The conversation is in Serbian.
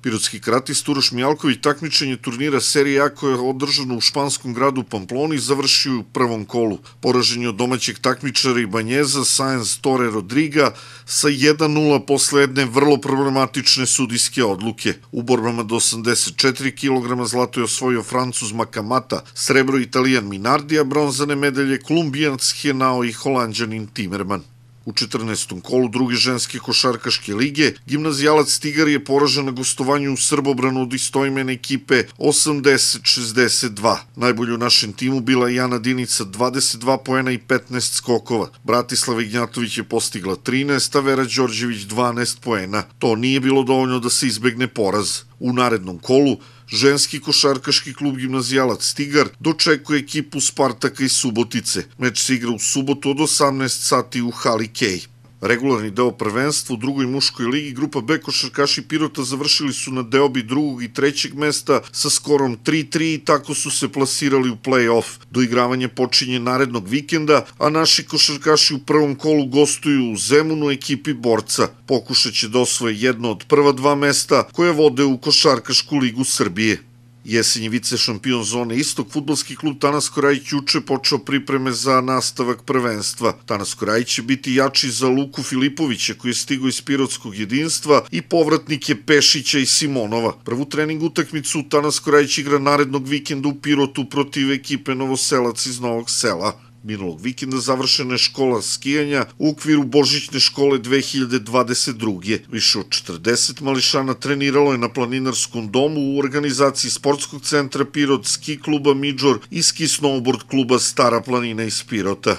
Pirotski karatista Uroš Mijalković takmičenje turnira Serije A koje je održano u španskom gradu Pamploni završio u prvom kolu. Poražen je od domaćeg takmičara Ibanjeza Sáenz Tore Rodriga sa 1:0 posle jedne vrlo problematične sudijske odluke. U borbama do 84 kg zlato je osvojio Francuz Makamata, srebro Italijan Minardi, a bronzane medalje Kolumbijanac Henao i Holanđanin Timerman. U 14. kolu druge ženske košarkaške lige, Gimnazijalac Tigar je poražen na gostovanju u Srbobranu od istoimene ekipe 80-62. Najbolji u našem timu bila je Jana Dinica 22 poena i 15 skokova. Bratislava Ignjatović je postigla 13, a Vera Đorđević 12 poena. To nije bilo dovoljno da se izbegne poraz. U narednom kolu ženski košarkaški klub Gimnazijalac Tigar dočekuje ekipu Spartaka iz Subotice. Meč se igra u subotu od 18 sati u hali Kej. Regularni deo prvenstva u drugoj muškoj ligi grupa B košarkaši Pirota završili su na deobi drugog i trećeg mesta sa skorom 3:3 i tako su se plasirali u play-off. Doigravanje počinje narednog vikenda, a naši košarkaši u prvom kolu gostuju u Zemunu ekipi Borca. Pokušat će da osvoje jedno od prva dva mesta koje vode u Košarkašku ligu Srbije. Jesenji vice šampion zone Istok, fudbalski klub Tanasko Rajić juče počeo pripreme za nastavak prvenstva. Tanasko Rajić će biti jači za Luku Filipovića koji je stigao iz Pirotskog jedinstva i povratnike Pešića i Simonova. Prvu trening utakmicu Tanasko Rajić igra narednog vikenda u Pirotu protiv ekipe Novoselac iz Novog Sela. Minulog vikenda završena je škola skijanja u okviru Božićne škole 2022. Više od 40 mališana treniralo je na planinarskom domu u organizaciji Sportskog centra Pirot, ski kluba Midžor i ski snowboard kluba Stara planina iz Pirota.